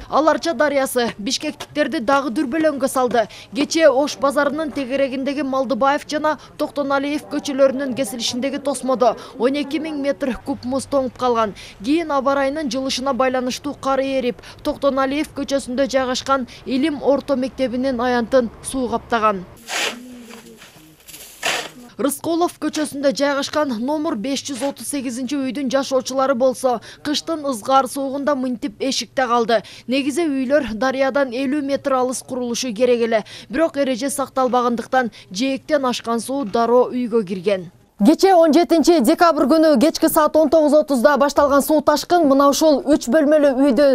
Ал Арча дарыясы бишкектиктерди дагы дүрбөлөңгө салды. Кечээ Ош базарынын тегерегиндеги Малдыбаев жана Токтоналиев көчөлөрүнүн кесилишиндеги тосмодо 12 000 метр куб муз тоңуп калган. Кийин аба ырайынын жылышына байланыштуу кар эрип, Токтоналиев көчөсүндө жайгашкан Илим орто мектебинин аянтын суу каптаган. Рысколов көчөсүндө жайгашкан номер 538 үйдүн жашоочулары болсо, кыштын ызгаар соогунда мынтип эшикте калды. Негизи үйлөр дарыядан 50 метр алыс курулушу керек эле. Бирок эреже сакталбагандыктан жээктен ашкан суу дароо үйгө кирген. Кечээ 17 декабрь күнү кечки саат 19:30 башталган суу ташкын мына ушул 3 бөлмөлүү үйдү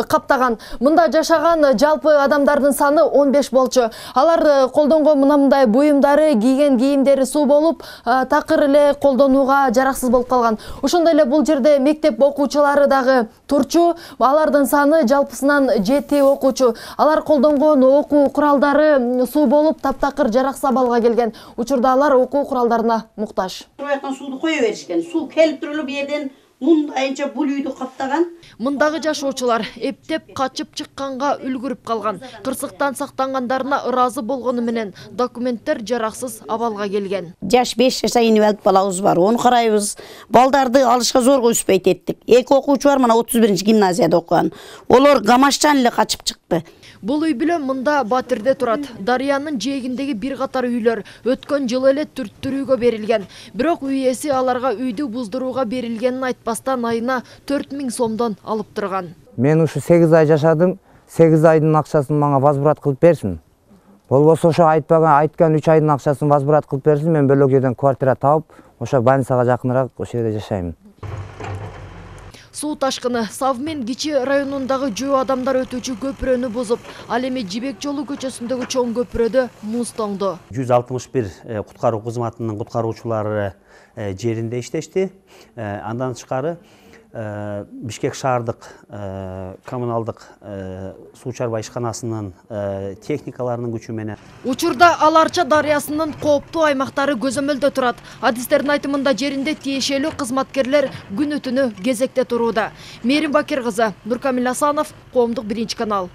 каптаган. Мында жашаган жалпы адамдардын саны 15 болчу. Алар колдонгон мындай буюмдары, кийген кийимдери суу болуп, такыр эле колдонууга жараксыз болуп калган. Ошондой эле бул жерде мектеп окуучулары дагы турчу. Алардын саны жалпысынан 7 окуучу. Алар колдонгон окуу куралдары суу болуп, таптакыр жараксыз абалга келген. Учурда алар окуу куралдарына муктаж. Проектан сууду кое беришкен. Суу келип туруп жерден мындайынча бул үйдү каптаган. Мындагы жашоочулар эптеп качып чыкканга үлгүрүп калган. Кырсыктан сактангандарына ыраазы болгону менен документтер жараксыз абалга келген. Жаш 5 жашка инвалид балабыз бар. Onu карайбыз. Балдарды алышка зорго үспөйт эттик. Эки окуучу бар, мына 31-гимназияда окуган. Олар Гамаштан эле качып чыкты. Бул үй билен мында Батирде турат. Дарыянын жээгиндеги бир катар үйлөр өткөн жылы эле түрттүрүүгө берилген. Бирок үй ээси аларга үйдү буздурууга берилгенин айтпастан айына 4 000 сомдон алып турган. Мен ушу 8 ай жашадым. 8 айдын акчасын мага возврат кылып берсин. Болбосо ошо айткан 3 айдын акчасын возврат кылып берсин. Мен бөлөк жерден квартира тауып, ошо больницага жакыныраак ошол жерде жашайм. Суу ташкыны Савмен Кичи районундагы жөө адамдар өтүүчү көпүрөнү бузуп, ал эми Жибек жолу көчөсүндөгү чоң көпүрөдө муз тоңду. 161 куткаруу кызматынын куткаруучулары жеринде иштешти. Андан тышкары Бишкек шаардык коммуналдык суу чарбаа ишканасынын техникаларынын күчү менен. Учурда Ал Арча дарыясынын кооптуу аймактары көзөмөлдө турат. Адистердин айтымында жеринде тиешелүү кызматкерлер күнү-түнү кезекте турууда. Мээрим Бакир кызы, Нуркамил Асанов, Коомдук 1 канал.